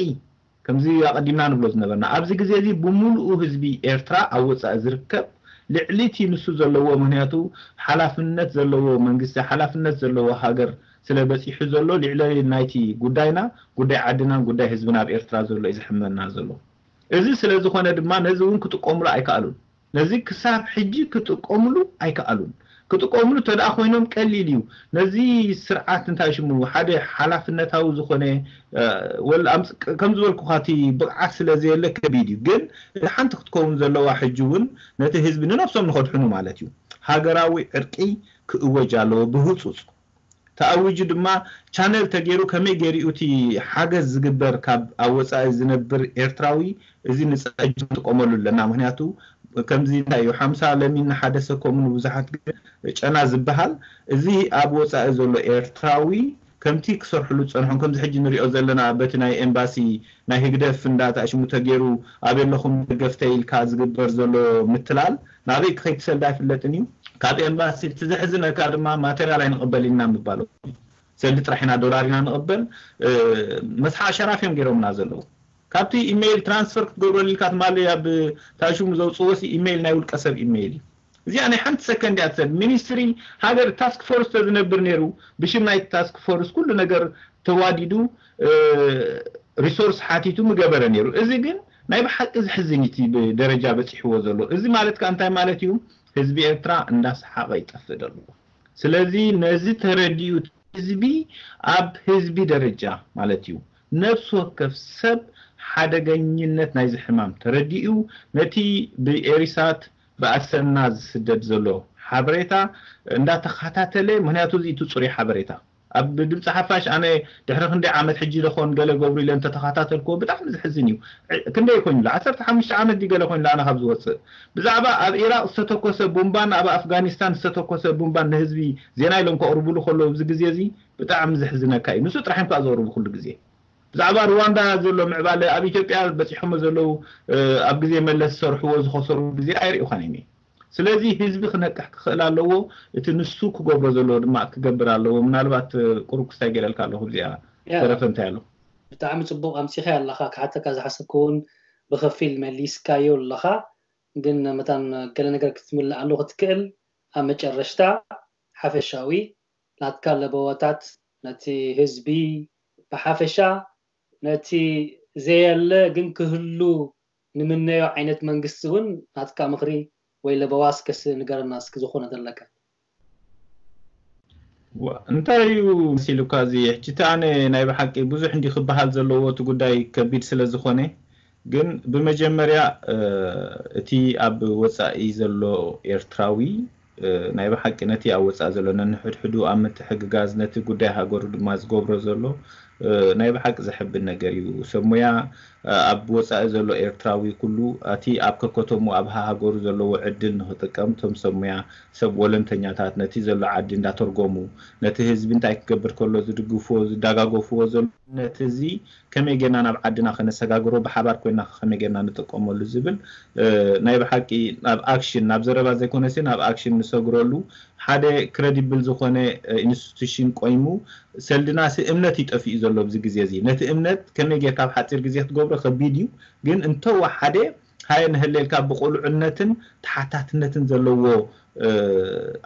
ከምዚ ኣቐዲምና ንብሎ ዝነበርና ኣብዚ ግዜ እዚ ብምሉኡ ህዝቢ ኤርትራ ኣብ ወጻኢ ዝርከብ ልዕሊ እቲ ንሱ ዘለዎ ምክንያቱ ሓላፍነት ዘለዎ መንግስቲ ሓላፍነት ዘለዎ ሃገር ስለ በጺሑ ዘሎ ልዕሊ ናይቲ ጉዳይና ጉዳይ ዓድናን ጉዳይ ህዝብና ኣብ ኤርትራ ዘሎ እዩ ዘሕመና ዘሎ። እዚ ስለ ዝኾነ ድማ ነዚ እውን ክጥቀሙሉ ኣይከኣሉን። ነዚ ክሳብ ሕጂ ክጥቀሙሉ ኣይከኣሉን። ክጥቀምሉ እንተ ደኣ ኮይኖም ቀሊል እዩ። ነዚ ስርዓት እንታይ ሽሙ ሓደ ሓላፍነታዊ ዝኾነ ወል ከም ዝበልኩኻ እቲ ብቕዓት ስለ ዘየለ ከቢድ እዩ። ግን እቲ ሓንቲ ክትከውን ዘለዋ ሕጂ እውን ነቲ ህዝቢ ንነብሶም ንኸድሕኑ ማለት እዩ። ሃገራዊ ዕርቂ ክእወጅ ኣለዎ ብህፁፅ ተኣዊጁ ድማ ቻነል ተገይሩ ከመይ ገይሩ እቲ ሓገዝ ዝግበር ካብ ኣብ ወፃኢ ዝነብር ኤርትራዊ እዚ ንፀጅ ንጥቀመሉ ኣለና። ምክንያቱ ከምዚ እንታይ እዩ ሓምሳ ለሚን ንሓደ ሰኮሙ ንብዙሓት ግን ጨና ዝበሃል እዚ ኣብ ወፃኢ ዘሎ ኤርትራዊ ከምቲ ክሰርሕሉ ዝፀንሖም ከምዚ ሕጂ ንሪኦ ዘለና በቲ ናይ ኤምባሲ ናይ ህግደፍ እንዳተኣሽሙ ተገይሩ ኣብ የለኹም ደገፍተ ኢልካ ዝግበር ዘሎ ምትላል ናበይ ክኸይድ ሰልዲ ኣይፍለጥን እዩ። ካብ ኤምባሲ እቲ ዘሕዝነካ ድማ ማቴሪያል ኣይንቕበል ኢና ምባሉ ሰልዲ ጥራሕ ኢና ዶላር ኢና ንቕበል መስሓ ሸራፍ እዮም ገይሮምና ዘለዉ። ካብቲ ኢሜይል ትራንስፈር ክትገብረሉ ኢልካ ትማሊ ኣብ ታሽሙ ዘውፅዎ ሲ ኢሜይል ናይ ውልቀ ሰብ ኢሜይል እዩ። እዚኣ ናይ ሓንቲ ሰከንድ እያ ትሰድ ሚኒስትሪ ሃገር ታስክ ፎርስ ተዝነብር ነይሩ ብሽም ናይ ታስክ ፎርስ ኩሉ ነገር ተዋዲዱ ሪሶርስ ሓቲቱ ምገበረ ነይሩ። እዚ ግን ናይ ብሓቂ ዝሕዝን እቲ ብደረጃ በፂሕዎ ዘሎ። እዚ ማለት ከዓ እንታይ ማለት እዩ? ህዝቢ ኤርትራ እንዳሰሓቐ ይጠፍእ ዘሎ። ስለዚ ነዚ ተረዲኡ ህዝቢ ኣብ ህዝቢ ደረጃ ማለት እዩ ነፍሲ ወከፍ ሰብ ሓደገኝነት ናይዚ ሕማም ተረዲኡ ነቲ ብኤሪሳት ብኣሰና ዝስደድ ዘሎ ሓበሬታ እንዳተኸታተለ ምክንያቱ እዚ እቲ ፅሩይ ሓበሬታ ኣብ ድምፂ ሓፋሽ ኣነ ድሕሪ ክንደይ ዓመት ሕጂ ደኾን ገለ ገብሩ ኢለ እንተተኸታተልክዎ ብጣዕሚ ዝሕዝን እዩ። ክንደይ ኮይኑ ዓሰርተ ሓሙሽተ ዓመት ድዩ ገለ ኮይኑ ኣነ ካብ ዝወፅእ ብዛዕባ ኣብ ኢራቅ ዝተተኮሰ ቡምባን ኣብ ኣፍጋኒስታን ዝተተኮሰ ቡምባን ንህዝቢ ዜና ኢሎም ከቕርቡሉ ከለዉ ኣብዚ ግዜ እዚ ብጣዕሚ ዘሕዝነካ እዩ። ንሱ ጥራሕ እኳ ዘቕርቡ ኩሉ ግዜ ብዛዕባ ሩዋንዳ ዘሎ ምዕባለ ኣብ ኢትዮጵያ በፂሖሞ ዘለዉ ኣብ ግዜ መለስ ዝሰርሕዎ ዝኸሰሩ ግዜ ኣይርእዩኻን እየ። ስለዚ ህዝቢ ክነቅሕ ክኽእል ኣለዎ። እቲ ንሱ ክገብሮ ዘለዎ ድማ ክገብር ኣለዎ። ምናልባት ቁሩብ ክስታይ ገይረልካ ኣለኹ እዚኣ ተረፈ እንታይ ኣሎ? ብጣዕሚ ፅቡቕ ኣምፂኻዮ ኣለኻ። ክሓተካ ዝሓሰብኩ እውን ብኸፊል መሊስካዮ ኣለኻ። ግን መታን ገለ ነገር ክትምልእ ኣሎ ክትክእል ኣብ መጨረሽታ ሓፈሻዊ ናትካ ለበዋታት ነቲ ህዝቢ ብሓፈሻ ነቲ ዘየለ ግን ክህሉ ንምነዮ ዓይነት መንግስቲ እውን ናትካ ምኽሪ ወይ ለበዋ እስከ ንገረና እስኪ ዝኾነ ዘለካ። እንታይ እዩ መሲሉካ እዚ ሕጂ እቲ ኣነ ናይ ብሓቂ ብዙሕ እንዲ ክበሃል ዘለዎ እቲ ጉዳይ ከቢድ ስለ ዝኾነ ግን ብመጀመርያ እቲ ኣብ ወፃኢ ዘሎ ኤርትራዊ ናይ ብሓቂ ነቲ ኣብ ወፃኢ ዘሎ ነንሕድሕዱ ኣብ ምትሕግጋዝ ነቲ ጉዳይ ሃገሩ ድማ ዝገብሮ ዘሎ ናይ ብሓቂ ዘሕብን ነገር እዩ። ሰብ ሙያ ኣብ ወፃኢ ዘሎ ኤርትራዊ ኩሉ እቲ ኣብ ከከተሙ ኣብ ሃሃገሩ ዘለዎ ዕድል ንክጥቀም እቶም ሰብ ሙያ ሰብ ወለንተኛታት ነቲ ዘሎ ዓዲ እንዳተርጎሙ ነቲ ህዝቢ እንታይ ክገብር ከሎ ዝድግፍዎ ዝዳጋገፍዎ ዘሎ ነቲ እዚ ከመይ ጌርና ናብ ዓድና ከነሰጋግሮ ብሓባር ኮይና ከመይ ጌርና ንጥቀመሉ ዝብል ናይ ብሓቂ ናብ ኣክሽን ናብ ዘረባ ዘይኮነሲ ናብ ኣክሽን ንሰግረሉ ሓደ ክረዲብል ዝኾነ ኢንስቲቱሽን ቆይሙ ሰልድናሲ እምነት ይጠፍኡ ዘሎ ኣብዚ ግዜ እዚ ነቲ እምነት ከመይ ጌርካ ኣብ ሓፂር ግዜ ክትገብሮ ከቢድ እዩ ግን እንተወሓደ ሃየ ንህሌልካ ብቁልዕነትን ተሓታትነትን ዘለዎ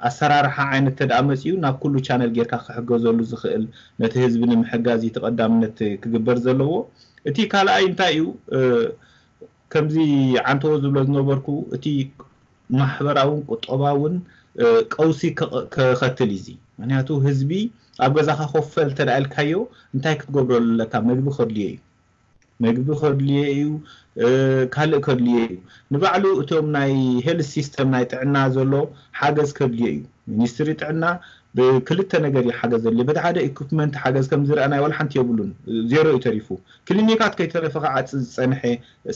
ኣሰራርሓ ዓይነት ተደኣ መፂኡ ናብ ኩሉ ቻነል ጌርካ ክሕገዘሉ ዝኽእል ነቲ ህዝቢ ንምሕጋዝ እዩ ተቐዳምነት ክግበር ዘለዎ። እቲ ካልኣይ እንታይ እዩ ከምዚ ዓንተዎ ዝብሎ ዝነበርኩ እቲ ማሕበራውን ቁጠባውን ቀውሲ ከኸትል እዩ። ምክንያቱ ህዝቢ ኣብ ገዛኻ ኮፈል ተደኣልካዮ እንታይ ክትገብረሉ ኣለካ? መግቢ ከድልዮ እዩ። መግቢ ከድልዮ እዩ። ካልእ ከድልዮ እዩ። ንባዕሉ እቶም ናይ ሄልት ሲስተም ናይ ጥዕና ዘሎ ሓገዝ ከድልዮ እዩ። ሚኒስትሪ ጥዕና ብክልተ ነገር እዩ ሓገዝ ዘድልዮ። በቲ ሓደ ኢኩፕመንት ሓገዝ ከም ዝረኣናይ ዋላ ሓንቲ የብሉን። ዜሮ እዩ ተሪፉ። ክሊኒካት ከይተረፈ ክዓፂ ዝፀንሐ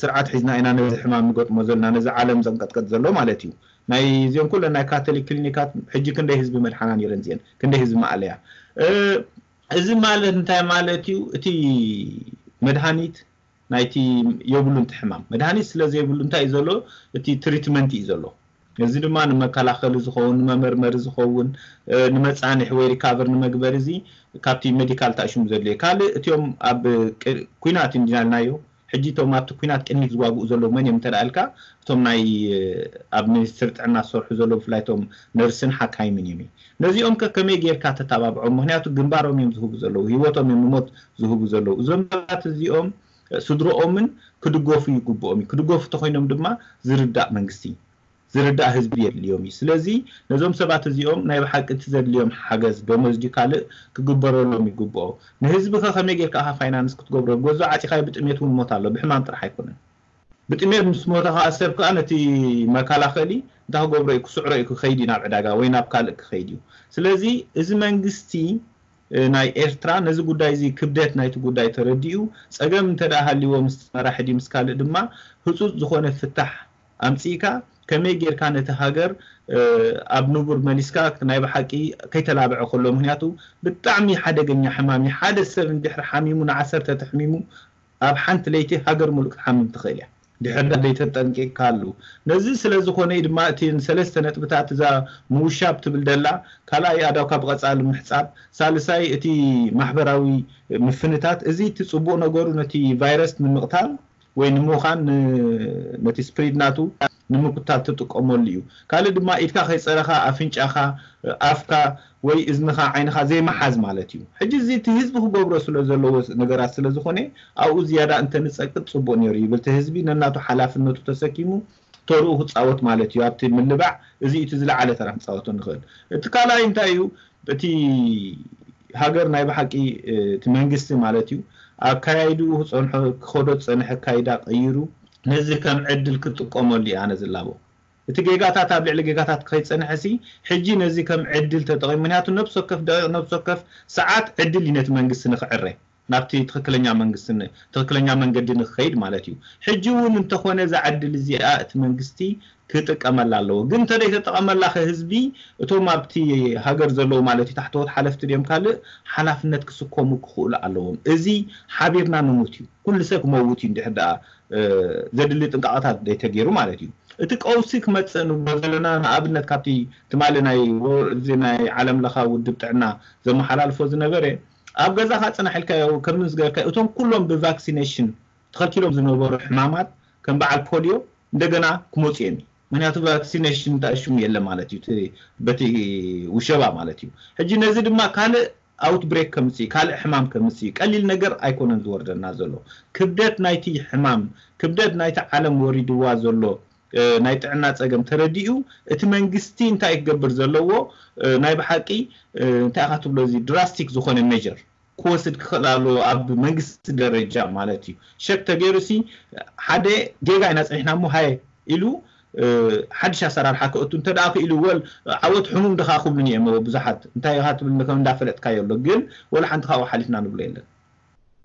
ስርዓት ሒዝና ኢና ነዚ ሕማም ንገጥሞ ዘለና ነዚ ዓለም ዘንቀጥቀጥ ዘሎ ማለት እዩ። ናይ እዚኦም ኩለን ናይ ካቶሊክ ክሊኒካት ሕጂ ክንደይ ህዝቢ መድሓና ነይረን እዚአን ክንደይ ህዝቢ ማእለያ እዚ ማለት እንታይ ማለት እዩ? እቲ መድሃኒት ናይቲ የብሉን እቲ ሕማም መድሃኒት ስለ ዘይብሉ እንታይ እዩ ዘሎ? እቲ ትሪትመንት እዩ ዘሎ። እዚ ድማ ንመከላኸሊ ዝኸውን ንመመርመሪ ዝኸውን ንመፃንሒ ወይ ሪካቨር ንመግበሪ እዚ ካብቲ ሜዲካል ታእሽሙ ዘድልዮ ካልእ እቲኦም ኣብ ኩናት እንዲናልናዮ ሕጂ እቶም ኣብቲ ኩናት ቅድሚት ዝዋግኡ ዘለዉ መን እዮም እንተደኣልካ እቶም ናይ ኣብ ሚኒስትሪ ጥዕና ዝሰርሑ ዘለዉ ብፍላይ እቶም ነርስን ሓካይምን እዮም ነዚኦም ከ ከመይ ጌርካ ተተባብዖም ምክንያቱ ግንባሮም እዮም ዝህቡ ዘለዉ ህይወቶም እዮም ንሞት ዝህቡ ዘለዉ እዞም ሰባት እዚኦም ስድሮኦምን ክድገፉ ይግብኦም እዩ ክድገፉ ተኮይኖም ድማ ዝርዳእ መንግስቲ ዝርዳእ ህዝቢ የድልዮም እዩ። ስለዚ ነዞም ሰባት እዚኦም ናይ ብሓቂ እቲ ዘድልዮም ሓገዝ፣ ደሞዝ ድዩ ካልእ፣ ክግበረሎም ይግብኦ። ንህዝቢ ከ ከመይ ጌርካ ኢኻ ፋይናንስ ክትገብሮ? ገዝኡ ዓፂኻዮ ብጥሜት እውን ሞት ኣሎ፣ ብሕማም ጥራሕ ኣይኮነን። ብጥሜት ምስ ሞተ ከዓ ሰብ ከዓ ነቲ መከላኸሊ እንታይ ክገብሮ እዩ? ክስዕሮ እዩ፣ ክኸይድ እዩ ናብ ዕዳጋ ወይ ናብ ካልእ ክኸይድ እዩ። ስለዚ እዚ መንግስቲ ናይ ኤርትራ ነዚ ጉዳይ እዚ ክብደት ናይቲ ጉዳይ ተረዲኡ ጸገም እንተ ደኣ ሃልይዎ ምስ መራሒ ድዩ ምስ ካልእ ድማ ህጹጽ ዝኾነ ፍታሕ ኣምጺእካ ከመይ ጌርካ ነቲ ሃገር ኣብ ንቡር መሊስካ ናይ ብሓቂ ከይተላብዐ ከሎ ምክንያቱ ብጣዕሚ ሓደገኛ ሕማም እዩ። ሓደ ሰብ እንድሕር ሓሚሙ ንዓሰርተ ተሕሚሙ ኣብ ሓንቲ ለይቲ ሃገር ሙሉእ ክትሓምም ትኽእል እያ። ድሕር ዳ ዘይተጠንቂቕካሉ ነዚ ስለ ዝኾነ እዩ ድማ እቲ ሰለስተ ነጥብታት እዛ ምውሻብ ትብል ደላ ካልኣይ ኣዳውካ ብቐጻሊ ምሕጻብ ሳልሳይ እቲ ማሕበራዊ ምፍንታት እዚ እቲ ጽቡቕ ነገሩ ነቲ ቫይረስ ንምቕታል ወይ ንምዃን ነቲ ስፕሪድ ናቱ ንምቁታል ትጥቀመሉ እዩ። ካልእ ድማ ኢድካ ከይጸረኻ ኣፍንጫኻ ኣፍካ ወይ እዝንኻ ዓይንኻ ዘይመሓዝ ማለት እዩ። ሕጂ እዚ እቲ ህዝቢ ክገብሮ ስለ ዘለዎ ነገራት ስለ ዝኾነ ኣብኡ ዝያዳ እንተንጸቅጥ ጽቡቕ ነይሩ ይብል እቲ ህዝቢ ነናቱ ሓላፍነቱ ተሰኪሙ ተርኡ ክጻወት ማለት እዩ ኣብቲ ምልባዕ እዚ እቲ ዝለዓለ ተራ ክጻወቶ ንኽእል። እቲ ካልኣይ እንታይ እዩ? እቲ ሃገር ናይ ብሓቂ እቲ መንግስቲ ማለት እዩ ኣካያይድኡ ክጸንሖ ክኸዶ ዝጸንሐ ኣካይዳ ቀይሩ ነዚ ከም ዕድል ክጥቀመሉ እዩ ኣነ ዝላቦ። እቲ ጌጋታት ኣብ ልዕሊ ጌጋታት ከይጸንሐ ሲ ሕጂ ነዚ ከም ዕድል ተጠቒሙ ምክንያቱ ነብሲ ወከፍ ደቂቕ ነብሲ ወከፍ ሰዓት ዕድል እዩ ነቲ መንግስቲ ንክዕረ ናብቲ ትኽክለኛ መንግስቲ ትኽክለኛ መንገዲ ንክኸይድ ማለት እዩ። ሕጂ እውን እንተኾነ እዛ ዕድል እዚኣ እቲ መንግስቲ ክጥቀመላ ኣለዎ። ግን እንተደይ ተጠቐመላ ከ ህዝቢ እቶም ኣብቲ ሃገር ዘለዉ ማለት እዩ ታሕተዎት ሓለፍቲ ድዮም ካልእ ሓላፍነት ክስከሙ ክኽእሉ ኣለዎም። እዚ ሓቢርና ንሙት እዩ። ኩሉ ሰብ ክመውት እዩ እንድሕር ደኣ ዘድሊ ጥንቃቐታት ዘይተገይሩ ማለት እዩ። እቲ ቀውሲ ክመፅእ ንብሎ ዘለና ንኣብነት ካብቲ ትማሊ ናይ ወ- እዚ ናይ ዓለም ለኻ ውድብ ጥዕና ዘመሓላልፎ ዝነበረ ኣብ ገዛኻ ፅናሕ ኢልካዮ ከም ዝገርካ እቶም ኩሎም ብቫክሲኔሽን ተኸልኪሎም ዝነበሩ ሕማማት ከም በዓል ፖሊዮ እንደገና ክመፁ እዮም። ምክንያቱ ቫክሲኔሽን እንታይ ሽሙ የለ ማለት እዩ እቲ በቲ ውሸባ ማለት እዩ። ሕጂ ነዚ ድማ ካልእ ኣውትብሬክ ከምፅእ ካልእ ሕማም ከምፅእ ቀሊል ነገር ኣይኮነን ዝወርደና ዘሎ። ክብደት ናይቲ ሕማም ክብደት ናይቲ ዓለም ወሪድዋ ዘሎ ናይ ጥዕና ፀገም ተረዲኡ እቲ መንግስቲ እንታይ ክገብር ዘለዎ ናይ ብሓቂ እንታይ ኢኻ ትብሎ እዚ ድራስቲክ ዝኾነ ሜጀር ክወስድ ክኽእል ኣለዎ ኣብ መንግስቲ ደረጃ ማለት እዩ። ሸክ ተገይሩ ሲ ሓደ ጌጋ ኢና ፀኒሕና እሞ ሃየ ኢሉ ሓድሽ ኣሰራርሓ ክእቱ እንተ ደኣ ክኢሉ ወል ዓወት ሕሙም ድኻ ክብሉኒ እዮም ብዙሓት እንታይ ኢኻ ትብል ከም እንዳፈለጥካዮ ኣሎ ግን ወላ ሓንቲ ካብኡ ሓሊፍና ንብሎ የለን።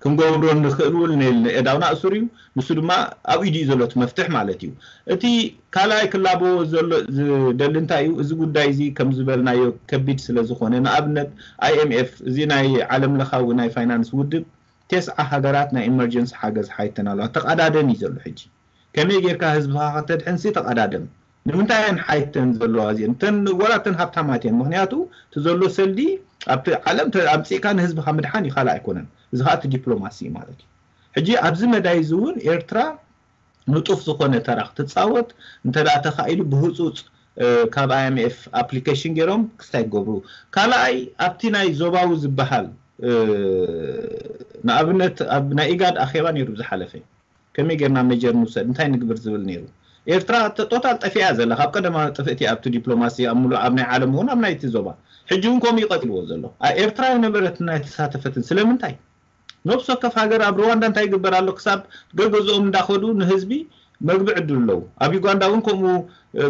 ክንገብሮ ንኽእል እውን የዳውና እሱር እዩ። ንሱ ድማ ኣብ ኢዱ እዩ ዘሎ እቲ መፍትሕ ማለት እዩ። እቲ ካልኣይ ክላበዎ ዘሎ ዝደሊ እንታይ እዩ እዚ ጉዳይ እዚ ከም ዝበልናዮ ከቢድ ስለ ዝኾነ ንኣብነት ኣይኤምኤፍ እዚ ናይ ዓለም ለኻዊ ናይ ፋይናንስ ውድብ ቴስዓ ሃገራት ናይ ኢመርጀንሲ ሓገዝ ሓይተን ኣለዋ ተቐዳደም እዩ ዘሎ ሕጂ ከመይ ጌርካ ህዝብኻ ከተድሕንሲ ተቐዳደም ንምንታይ እየን ሓይተን ዘለዋ እዚአን እተን ወላ እተን ሃብታማት እየን ምክንያቱ እቲ ዘሎ ሰልዲ ኣብቲ ዓለም ኣምፂእካ ንህዝብኻ ምድሓን ይኻል ኣይኮነን እዚ ከዓ እቲ ዲፕሎማሲ ማለት እዩ ሕጂ ኣብዚ መዳይ እዚ እውን ኤርትራ ንጡፍ ዝኾነ ተራ ክትፃወት እንተ ተኻኢሉ ብህፁፅ ካብ ኣይኤምኤፍ ኣፕሊኬሽን ገይሮም ክስታይ ክገብሩ ካልኣይ ኣብቲ ናይ ዞባዊ ዝበሃል ንኣብነት ኣብ ናይ ኢጋድ ኣኼባ ነይሩ ዝሓለፈ ከመይ ጌርና ሜጀር ንውሰድ እንታይ ንግብር ዝብል ነይሩ ኤርትራ ቶታል ጠፊኣ ዘላ ካብ ቀደማ ጥፍእቲ ኣብቲ ዲፕሎማሲ ኣብ ሙሉእ ኣብ ናይ ዓለም እውን ኣብ ናይቲ ዞባ ሕጂ እውን ከምኡ ይቀጥልዎ ዘሎ ኤርትራ የነበረትን ኣይተሳተፈትን ስለምንታይ ነብሲ ወከፍ ሃገር ኣብ ሩዋንዳ እንታይ ይግበር ኣሎ ክሳብ ገገዝኦም እንዳኸዱ ንህዝቢ መግቢ ዕድል ኣለዉ ኣብ ዩጋንዳ እውን ከምኡ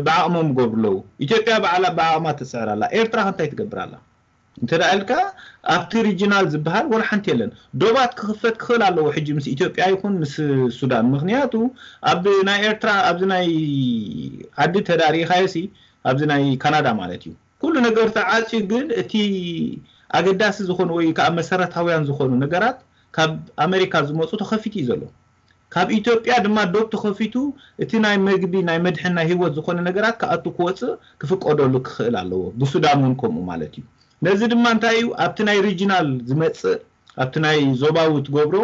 ብዓቕሞም ይገብሩ ኣለዉ ኢትዮጵያ ብዓላ ብዓቕማ ትስዕር ኣላ ኤርትራ ከ እንታይ ትገብር ኣላ እንተ ኢልካ ኣብቲ ሪጂናል ዝበሃል ወላ ሓንቲ የለን ዶባት ክኽፈት ክኽእል ኣለዎ ሕጂ ምስ ኢትዮጵያ ይኹን ምስ ሱዳን ምክንያቱ ኣብ ናይ ኤርትራ ኣብዚ ናይ ዓዲ ተዳሪእኻዮ ሲ ኣብዚ ናይ ካናዳ ማለት እዩ ኩሉ ነገር ተዓፅዩ ግን እቲ ኣገዳሲ ዝኾኑ ወይ ከዓ መሰረታውያን ዝኾኑ ነገራት ካብ ኣሜሪካ ዝመፁ ተኸፊቱ እዩ ዘሎ ካብ ኢትዮጵያ ድማ ዶብ ተኸፊቱ እቲ ናይ መግቢ ናይ መድሕን ናይ ህይወት ዝኾነ ነገራት ክኣቱ ክወፅእ ክፍቀደሉ ክኽእል ኣለዎ ብሱዳን እውን ከምኡ ማለት እዩ ነዚ ድማ እንታይ እዩ ኣብቲ ናይ ሪጂናል ዝመፅእ ኣብቲ ናይ ዞባዊ ትገብሮ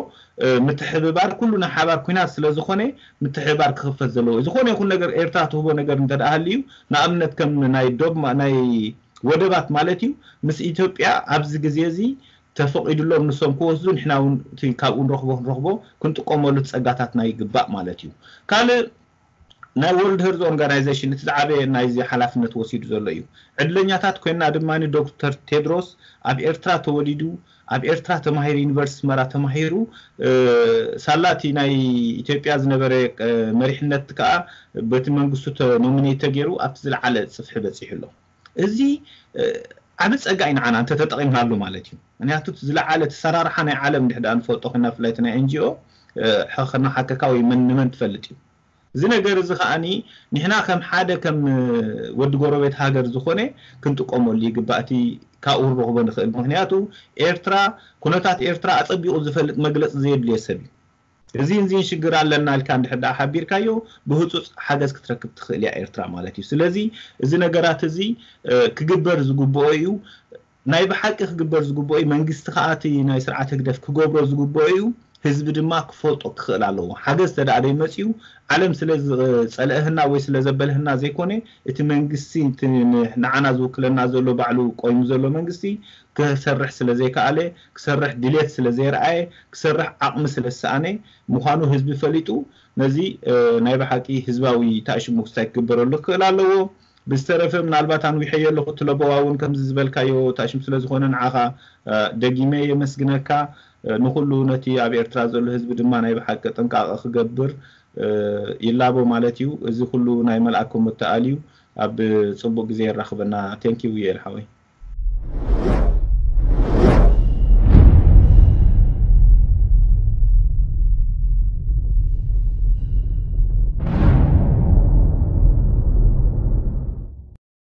ምትሕብባር ኩሉ ናይ ሓባር ኩናት ስለ ዝኾነ ምትሕብባር ክኽፈት ዘለዎ ዝኾነ ይኹን ነገር ኤርትራ ትህቦ ነገር እንተ ደኣ ሃልዩ ንኣብነት ከም ናይ ዶብ ናይ ወደባት ማለት እዩ ምስ ኢትዮጵያ ኣብዚ ግዜ እዚ ተፈቒዱሎም ንሶም ክወስዱ ንሕና እውን እቲ ካብኡ ንረኽቦ ክንረኽቦ ክንጥቀመሉ ጸጋታትና ይግባእ ማለት እዩ ካልእ ናይ World Health Organization እቲ ዝዓበየ ናይዚ ሓላፍነት ወሲዱ ዘሎ እዩ። ዕድለኛታት ኮይና ድማ ዶክተር ቴድሮስ ኣብ ኤርትራ ተወሊዱ፣ ኣብ ኤርትራ ተማሂሩ፣ ዩኒቨርሲቲ ኣስመራ ተማሂሩ፣ ሳላቲ ናይ ኢትዮጵያ ዝነበረ መሪሕነት ከዓ በቲ መንግስቱ ኖሚኔት ተገይሩ ኣብቲ ዝለዓለ ፅፍሒ በፂሑ ኣሎ። እዚ ዓብ ፀጋ እዩ ንዓና እንተተጠቒምናሉ ማለት እዩ። ምክንያቱ ዝለዓለ ተሰራርሓ ናይ ዓለም ድሕዳ ንፈልጦ ኮይና ፍላይቲ ናይ ኤንጂኦ ከናሓከካ ወይ መን ንመን ትፈልጥ እዩ። እዚ ነገር እዚ ከዓኒ ንሕና ከም ሓደ ከም ወዲ ጎረቤት ሃገር ዝኾነ ክንጥቀመሉ ይግባእ። እቲ ካብኡ ንረኽቦ ንኽእል። ምክንያቱ ኤርትራ፣ ኩነታት ኤርትራ ኣጸቢቑ ዝፈልጥ መግለጺ ዘየድልዮ ሰብ እዩ። እዚ እንዚን ሽግር ኣለና ኢልካ እንድሕር ደኣ ሓቢርካዮ ብህጹጽ ሓገዝ ክትረክብ ትኽእል እያ ኤርትራ ማለት እዩ። ስለዚ እዚ ነገራት እዚ ክግበር ዝግብኦ እዩ። ናይ ብሓቂ ክግበር ዝግብኦ እዩ። መንግስቲ ከዓ እቲ ናይ ስርዓት ህግደፍ ክገብሮ ዝግብኦ እዩ። ህዝቢ ድማ ክፈልጦ ክኽእል ኣለዎ። ሓገዝ ተደኣ ደይመፅኡ ዓለም ስለ ዝፀለእህና ወይ ስለ ዘበልህና ዘይኮነ እቲ መንግስቲ እቲ ንዓና ዝውክለና ዘሎ ባዕሉ ቆይሙ ዘሎ መንግስቲ ክሰርሕ ስለ ዘይከኣለ ክሰርሕ ድሌት ስለ ዘይረኣየ ክሰርሕ ዓቕሚ ስለ ዝሰኣነ ምዃኑ ህዝቢ ፈሊጡ ነዚ ናይ ብሓቂ ህዝባዊ ታእሽሙ ክስታይ ክግበረሉ ክኽእል ኣለዎ። ብዝተረፈ ምናልባት ኣንዊሐዮ ኣለኹ እቲ ለበዋ እውን ከምዚ ዝበልካዮ ታሽም ስለ ዝኾነ ንዓኻ ደጊመ የመስግነካ። ንኹሉ ነቲ ኣብ ኤርትራ ዘሎ ህዝቢ ድማ ናይ ብሓቂ ጥንቃቐ ክገብር ይላቦ ማለት እዩ። እዚ ኩሉ ናይ መልኣኮም መተኣል እዩ። ኣብ ጽቡቕ ግዜ የራኽበና። ቴንኪው ዩኤል ሓወይ።